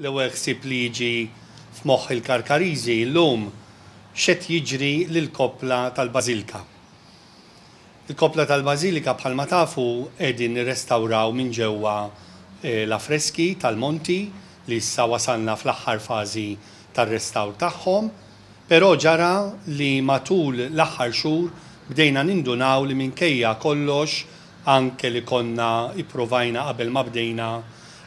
L-ewwel ħsieb li jiġi f'moħħ il-Karkariżi llum x'qed jiġri lill-koppla tal-Bażilka. Il-koppla tal-Bażilika bħalma tafu qegħdin nirrestawraw minn ġewwa l-affreski tal-monti li issa wasalna fl-aħħar fażi tar-restawr tagħhom. Però ġara li matul l-aħħar xhur bdejna nindunaw li minkejja kollox anke li konna ippruvajna qabel ma bdejna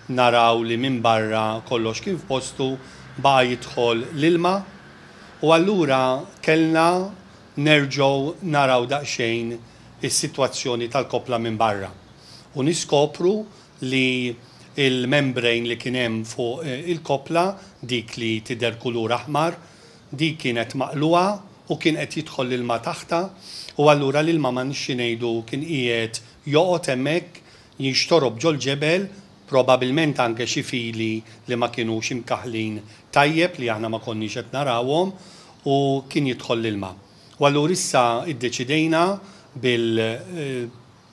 naraw li minn barra kollox kien f'postu, baqa' jidħol l-ilma u allura kellna nerġgħu naraw daqsxejn is-sitwazzjoni tal-koppla minn barra u niskopru li l-membrane li kien hemm fuq il-koppla, dik li tidher kulur aħmar, dik kienet maqlugħa u kien qed jidħol l-ilma taħtha u allura l-ilma m'għandniex xi ngħidu kien qiegħed joqgħod hemmhekk, jinxtorob ġol-ġebel, probabilment anke xi fili li ma kinux imkaħħlin tajjeb li aħna ma konniex qed narawhom u kien jidħol l-ilma. U allura issa ddeċidejna bil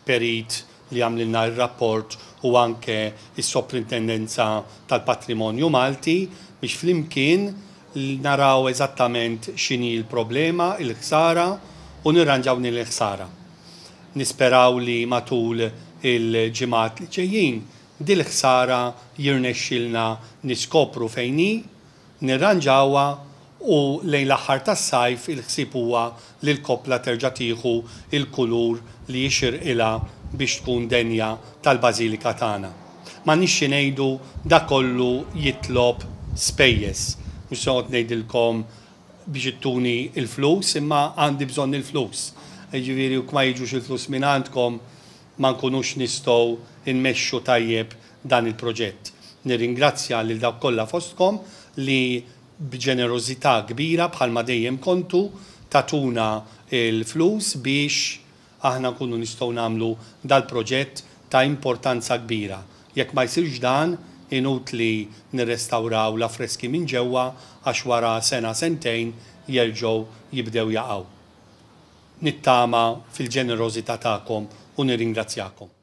perit li għamlilna r-rapport u anke s-Soprintendenza tal-Patrimonju Malti biex flimkien naraw eżattament x'inhi l-problema, il-ħsara u nirranġaw din il-ħsara. Nisperaw li matul il-ġimgħat li ġejjin dil-ħsara jirnexxilna niskopru fejn hi, nirranġawha u lejn l-aħħar tas-sajf il-ħsieb huwa li l-koppla terġa' tieħu l-kulur li jixirqilha biex tkun denja tal-Bażilika tagħna. M'għandniex xi ngħidu dak kollu jitlob spejjeż. Mhux se noqgħod ngħidilkom biex ittuni l-flus imma għandi bżonn il-flus. Jiġifieri jekk ma jiġux il-flus mingħandkom ma nkunux nistgħu nmexxu tajjeb dan il-proġett. Nirringrazzja lil dawk kollha fostkom li b'ġenerożità kbira bħalma dejjem kontu tagħtuna l-flus biex aħna nkunu nistgħu nagħmlu dal-proġett ta' importanza kbira. Jekk ma jsirx dan, inutli nirrestawraw l-affreski minn ġewwa għax wara sena sentejn jerġgħu jibdew jaqgħu. Nittama fil-ġenerożità tagħkom u nirringrazzjakom.